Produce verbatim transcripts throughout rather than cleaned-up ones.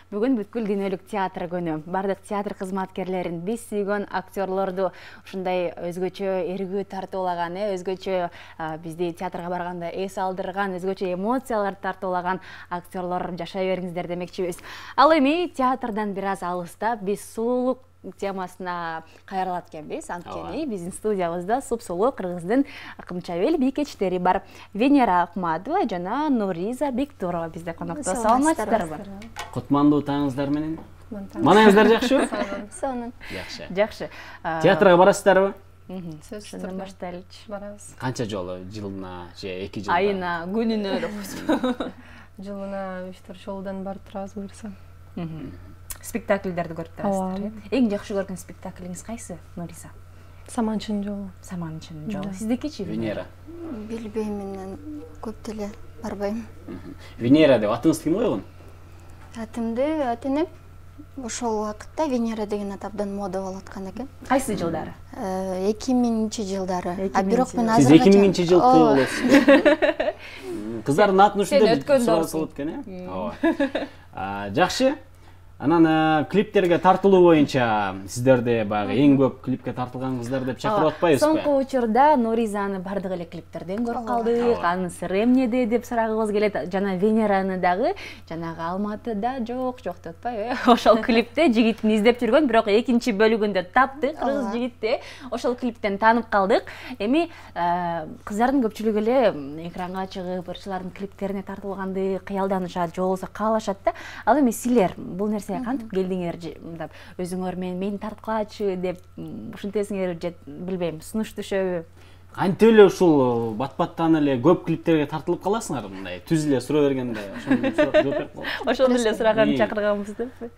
Бүгүн бүткүл дүйнөлүк театр күнү. Бардык театр кызматкерлерин, биз сүйгөн актерлорду ушундай өзгөчө эргүү тартуулаган, өзгөчө бизди театрга барганда эс алдырган, өзгөчө эмоцияларды тартуулаган актерлор жашай бериңиздер демекчибиз. Ал эми театрдан бир аз алыстап биз сулуулук темасына кайрылат экенбиз. Анткени биздин студиябызда супсулуу кыргыздын кымчабел бийкечтери бар. Венера Акмадова жана Нуриза Бектурова бизде конокто. Саламатсыздарбы? Кутмандуу таңыңыздар менен. Маанаңыздар жакшыбы? Сонун. Жакшы. Жакшы. Театрга барасыздарбы? Сөзсүз баштайлычы. Барабыз. Канча жолу? Жылына же эки жылда? Айына, күнүнө деп. Жылына үч төрт жолдон барып турабыз буюрса. Спектакльдерди көрүп турасыздар. Эң жакшы көргөн спектаклиңиз кайсы, Нуриза? Саманчынын жолу. Саманчынын жолу. Сиздикичи? Венера. Билбейм, көп деле барбайм. Венера деп атыңызды ким койгон? Атымды атенем. Ошол убакытта Венера деген ат абдан мода болуп аткан экен. Кайсы жылдары? эки миңинчи жылдары. А бирок мен азыр азыркыча эки миңинчи жылкы болосуз. Кыздардын атын ушундай суралып экен, э? Ооба. Жакшы. Анан клиптерге тартылуу боюнча сиздерди баягы эң көп клипке тартылган деп чакырып атпайбызбы? Соңку учурда Нуризаны бардык эле клиптерден көрүп калдык. Анын сыры эмнеде деп сурагыбыз келет. Жана Венераны дагы жанагы Алматыда жок, жок деп атпайбы? Ошол клипте жигитин издеп жүргөн, бирок экинчи бөлүгүндө таптык, кыргыз жигитти. Ошол клиптен таанып калдык. Эми кыздардын көпчүлүгү эле экранга чыгып, ырчылардын клиптерине тартылганды кыялданышат, же болбосо каалашат да. Ал эми силер бул нерсе кантип келдиңер, мындай өзүңөр менен мени тарткылачы деп ушинтесиңер же билбейм, сунуш түшөбү? Кантип эле ушул бат-баттан эле көп клиптерге тартылып каласыңар, мындай түз эле суроо бергенде, ошону жооп берип калам. Ошону эле сураган чакырганбыз деппи?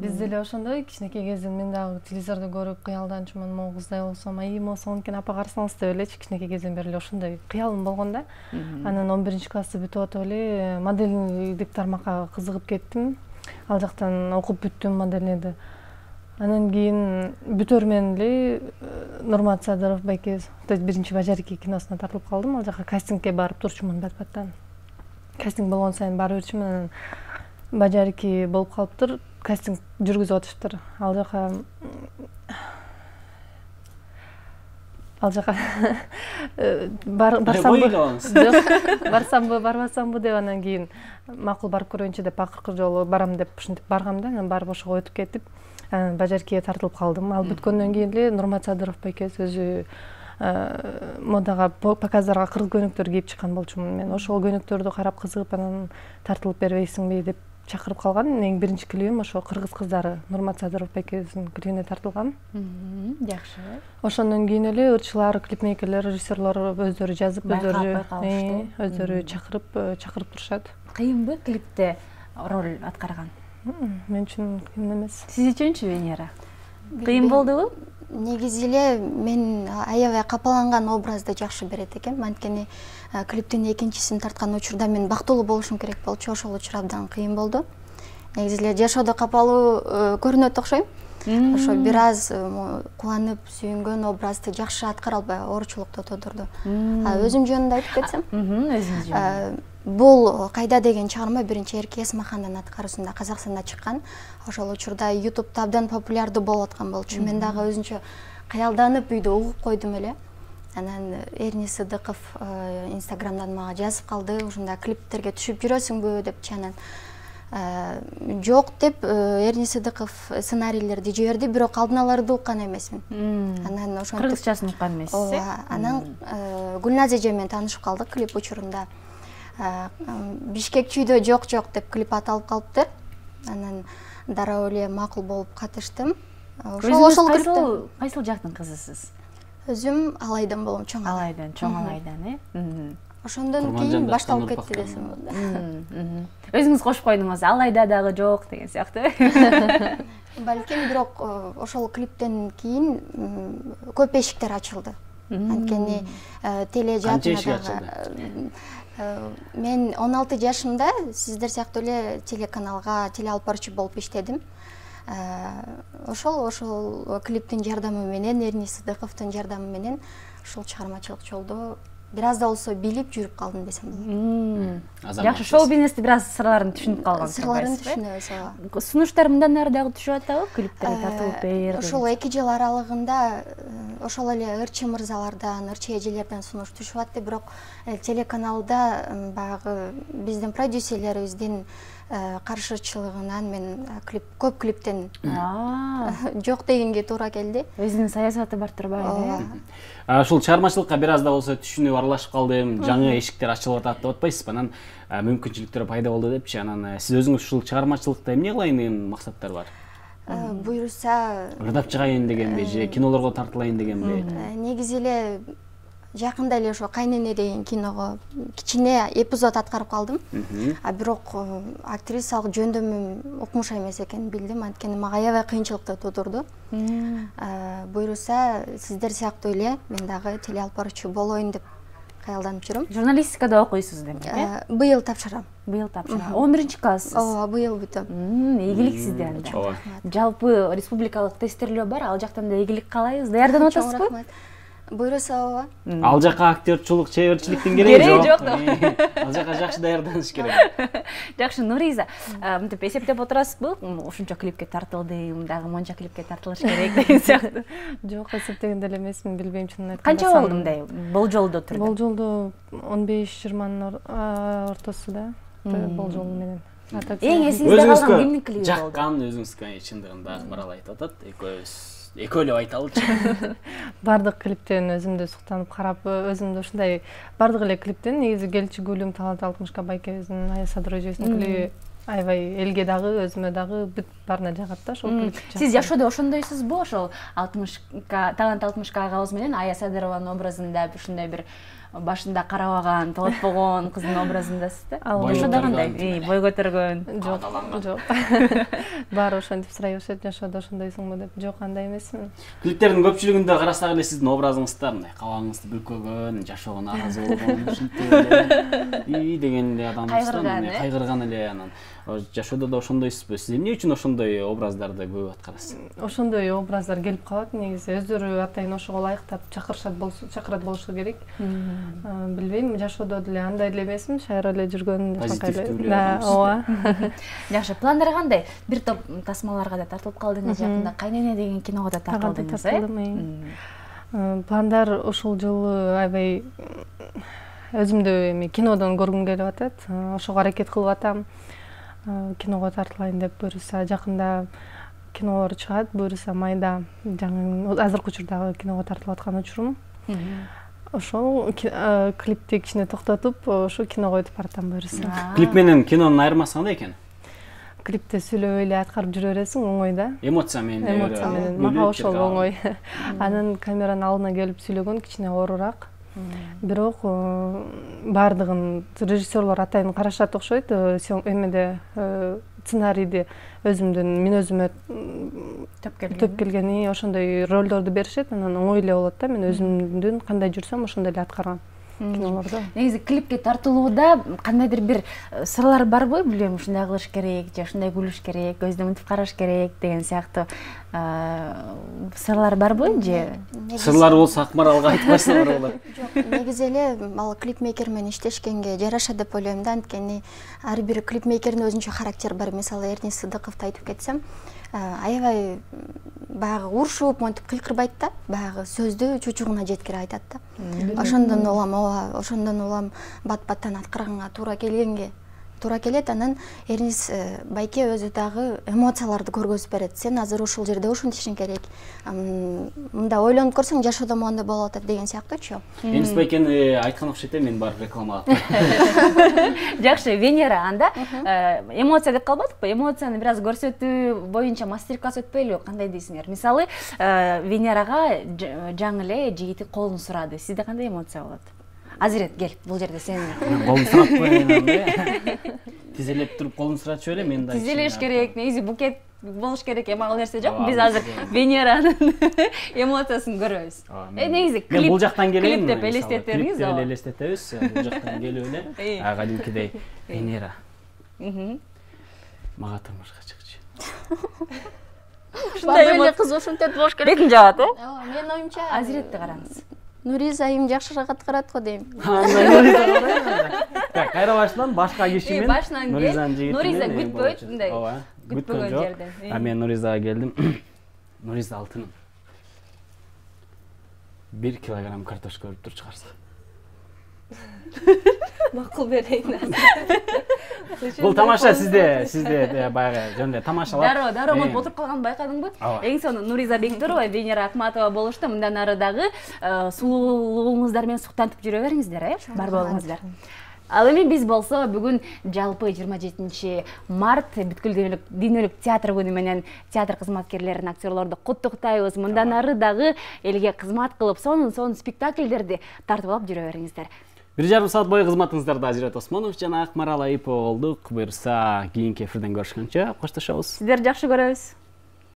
Биз деле ошондой кичинекей кезинен мен дагы телевизордо көрүп кыялданчумун, могу кыздай болсом, ай мосо анткени апа карасаңыз деп элечи кичинекей кезинен бери эле ошондой кыялым болгон да. Анан он биринчи классты бүтүп атып эле моделдик тармакка кызыгып кеттим. Ал жактан окуп бүттүм моделиңди. Анан кийин бүтөр менен эле Нурмат Садыров байке, то есть биринчи Бажарики киносуна тартылып калдым. Ал жака кастингге барып турчумун бат-баттан. Кастинг болгон сайын бара берчүмүн, анан Бажарики болуп калыптыр. Кастинг жүргүзүп атыштыр. Ал жака Ал жака барсамбы, жок, барсамбы, барбасамбы деп анан кийин макул барып көрөйүнчү деп акыркы жолу барам деп ушинтип баргам да, анан барып ошого өтүп кетип, анан Бажарикиге тартылып калдым. Ал бүткөндөн кийин эле Нурмат Садыров байкебиз өзү модага, показдарга кыргыз көнүктөр кийип чыккан болчумун. Мен ошол көнүктөрдү карап кызыгып, анан тартылып бербейсиңби деп чакырып калган. Эң биринчи клибим ошо кыргыз кыздары Нурмат Садыров байкебиздин клибине тартылган. Жакшы. Ошондон кийин эле ырчылар, клипмейкерлер, режиссерлор өздөрү жазып, өздөрү өздөрү чакырып, чакырып турушат. Кыйынбы клипте роль аткарган? Мен үчүн кыйын эмес. Сиз үчүнчү, Венера? Кыйын болдубу? Негизи эле мен аябай капаланган образды жакшы берет экенмин. Анткени клиптин экинчисин тарткан учурда мен бактылуу болушум керек болчу. Ошол учур абдан кыйын болду. Негизи эле жашоодо капалуу көрүнөт окшойм. Ошо бир аз кубанып, сүйүнгөн образды жакшы аткара албай оорчулукту тудурду. Өзүм жөнүндө айтып кетсем, өзүңүз жөнүндө. Бул Кайда деген чыгарма биринчи Эрке Эсмахандын аткаруусунда Казакстанда чыккан. Ошол учурда ютубта абдан популярдуу болуп аткан болчу. Мен дагы өзүнчө кыялданып үйдө угуп койдум эле. Анан Эрни Сыдыков инстаграмдан мага жазып калды, ушундай клиптерге түшүп жүрөсүңбү депчи. Анан жок деп Эрни Сыдыков сценарийлерди жиберди, бирок алдын ала уккан эмесмин. Анан ошентип кыргызчасын уккан эмессиз, э? Анан Гүлназ эже менен таанышып калдык клип учурунда. Бишкек чүйдө жок жок деп клип аталып калыптыр. Анан дароо эле макул болуп катыштым. Ошол ошол клипте кайсыл жактын кызысыз? Өзүм Алайдан болом, чоң Алайдан, чоң Алайдан, э? Ошондон кийин башталып кетти десем болот. Өзүңүз кошуп койдуңуз, Алайда дагы жок деген сыяктуу. Балким, бирок ошол клиптен кийин көп эшиктер ачылды. Анткени тележатына дагы мен он алты жашымда сиздер сыяктуу эле телеканалга теле алып баруучу болуп иштедим. Ошол ошол клиптин жардамы менен, Эрни Сыдыковдун жардамы менен ушул чыгармачылык жолдо бир аз да болсо билип жүрүп калдым десем болот. Жакшы, шоу бизнести бир аз сырларын түшүнүп калгансыз. Сырларын түшүнөбүз, ооба. Сунуштар мындан ары дагы түшүп атабы? Клиптерге тартылып бер. Ошол эки жыл аралыгында ошол эле ырчы мырзалардан, ырчы эжелерден сунуш түшүп атты, бирок телеканалда баягы биздин продюсерлерибиздин каршычылыгынан мен клип көп клиптен жок дегенге туура келди. Өзүнүн саясаты бар турбайбы? Ушул чыгармачылыкка бир аз да болсо түшүнүп аралашып калдым, жаңы эшиктер ачылып атат деп атпайсызбы? Анан мүмкүнчүлүктөр пайда болду депчи. Анан сиз өзүңүз ушул чыгармачылыкта эмне кылайын деген максаттар бар? Буюрса, ырдап чыгайын дегенби же кинолорго тартылайын дегенби? Негизи эле жакында эле ошо Кайнене деген киного кичине эпизод аткарып калдым. А бирок актрисалык жөндөмүм укмуш эмес экенин билдим, анткени мага аябай кыйынчылыкты туудурду. Буюрса, сиздер сыяктуу эле мен дагы теле алып баруучу болоюн деп каялданып жүрөм. Журналистикада окуйсуз демек, э? Быйыл тапшырам. Быйыл тапшырам. он биринчи класссыз. Ооба, быйыл бүтөм. Ийгилик сизде анда. Жалпы республикалык тесттөөлөр бар, ал жактан да ийгилик каалайбыз. Даярданып атасызбы? Буйруса, ооба. Ал жака актёрчулук, чеберчиликтин кереги жок. Ал жака жакшы даярданыш керек. Жакшы, Нуриза, мынтип эсептеп отурасызбы? Ушунча клипке тартылдым, дагы монча клипке тартылыш керек деген сыяктуу. Жок, эсептеген деле эмесмин, билбейм чынын айтканда. Канча болду мындай болжолдо турду? Болжолдо он беш жыйырманын ортосунда болжол менен. Эң эсиңизде калган кимдин клиби болду? Жаккан өзүңүзгө чындыгында Акмарал айтып атат, экөөбүз экөө эле айталычы. Бардык клиптен өзүмдү суктанып карап, өзүмдү ушундай бардык эле клиптен негизи Келчи гүлүм Талант алтымышка байкебиздин Аясадыр эжебиздин клиби аябай элге дагы, өзүмө дагы бүт баарына жагат да ошол клип. Сиз жашоодо ошондойсузбу? Ошол алтымышка Талант алтымышка агабыз менен Аясадырованын образында ушундай бир башында карабаган, толотпогон кыздын образындасыз да? Жашоодо кандай? Бой көтөргөн. Жок, жок. Баары ошентип сурай беришет, жашоодо ошондойсуңбу деп. Жок, андай эмесмин. Клиптердин көпчүлүгүндө карасак эле сиздин образыңызда мындай кабагыңызды бүркөгөн, жашоого нааразы болгон, ушинтип и деген эле адамсыздар, кайгырган эле анан жашоодо да ошондойсузбу? Сиз эмне үчүн ошондой образдарды көп аткарасыз? Ошондой образдар келип калат, негизи өздөрү атайын ошого ылайыктап чакырышат болсо, чакырат болушу керек. Билбейм, жашоодо деле андай эле эмесмин, шайра эле жүргөн позитивдүү. Да, ооба. Жакшы, пландар кандай? Бир топ тасмаларга да тартылып калдыңыз, жакында Кайнене деген киного да тартылдыңыз, э? Пландар ушул жылы аябай өзүмдү эми кинодон көргүм келип атат. Ошого аракет кылып атам. Киного тартылайын деп, буюрса жакында кинолор чыгат, буюрса майда жаңы азыркы учурдагы киного тартылып аткан учурум. Ошол клипти кичине токтотуп, ошо киного өтүп баратам буюрса. Клип менен кинонун айырмасы кандай экен? Клипте сүйлөп эле аткарып жүрө бересиң, оңой да. Эмоция менен. Эмоция менен. Мага ошол оңой. Анан камеранын алдына келип сүйлөгөн кичине оорураак. Бирок баардыгын режиссерлор атайын карашат окшойт, эмеде сценарийди өзүмдүн мен өзүмө төп келгени ошондой ролдорду беришет, анан оңой эле болот да, мен өзүмдүн кандай жүрсөм ошондой эле аткарган кинолордо. Негизи клипке тартылууда кандайдыр бир сырлар барбы? Билбейм, ушундай кылыш керек, же ушундай күлүш керек, көздөн мынтип караш керек деген сыяктуу сырлар барбы же? Сырлар болсо Акмаралга айтпайсыңар болот. Жок, негизи эле ал клипмейкер менен иштешкенге жараша деп ойлойм да, анткени ар бир клипмейкердин өзүнчө характери бар. Мисалы, Эрнис Сыдыковду айтып кетсем, аябай баягы урушуп, монтип кыйкырбайт да, баягы сөздү чучугуна жеткире айтат да. Ошондон улам, ооба, ошондон улам бат-баттан аткарганга туура келгенге туура келет. Анан Эрнис байке өзү дагы эмоцияларды көргөзүп берет. Сен азыр ушул жерде ушинтишиң керек. Мында ойлонуп көрсөң, жашоодо моундай болуп атат деген сыяктуучу. Эрнис байкени айткан окшойт, мен барып рекламалап. Жакшы, Венера анда эмоция деп калбадыкпы? Эмоцияны бир аз көрсөтүү боюнча мастер-класс өтпөйлү, кандай дейсиңер? Мисалы, Венерага жаңы эле жигити колун сурады. Сизде кандай эмоция болот? Азирет, кел, бул жерде сен. Колун сурап коеюн анда. Тизелеп туруп колун суратчу эле, мен да. Тизелеш керек, негизи букет болуш керек, эми ал нерсе жок. Биз азыр Венеранын эмоциясын көрөбүз. Э, негизи клип. Бул жактан келейин. Клип деп элестетериңиз, ооба. Клип элестетебиз, бул жактан келип эле. А кадимкидей Венера. Мм. Мага турмушка чыкчу. Ушундай эле кыз ушинтип болуш керек. Бетин жабат, э? Ооба, менин оюмча Азиретти караңыз. Нуриза айым жакшыраак аткарат го дейм. Так, кайра башынан башка киши менен башынан Нуризанын жигити. Нуриза күтпөйт, мындай. Ооба. Күтпөгөн жерден. А мен Нуризага келдим. Нуриза алтыным. бир килограмм картошка өрүп тур чыгарса. Макул берейин. Бул тамаша сизде, сизде баягы жөндөй тамашалап. Дароо, дароо монтип отуруп калганын байкадыңбы? Эң сонун Нуриза Бектурова, Венера Акматова болушту. Мындан ары дагы сулуулугуңуздар менен суктантып жүрө бериңиздер, э? Бар болуңуздар. Ал эми биз болсо бүгүн жалпы жыйырма жетинчи март бүткүл дүйнөлүк театр күнү менен театр кызматкерлерин, актерлорду куттуктайбыз. Мындан ары дагы элге кызмат кылып, сонун-сонун спектакльдерди тартып алып жүрө бериңиздер. Бир жарым саат бою кызматыңыздарда Азирет Осмонов жана Акмарал Айыпова болдук. Буюрса кийинки эфирден көрүшкөнчө коштошобуз. Сиздерди жакшы көрөбүз.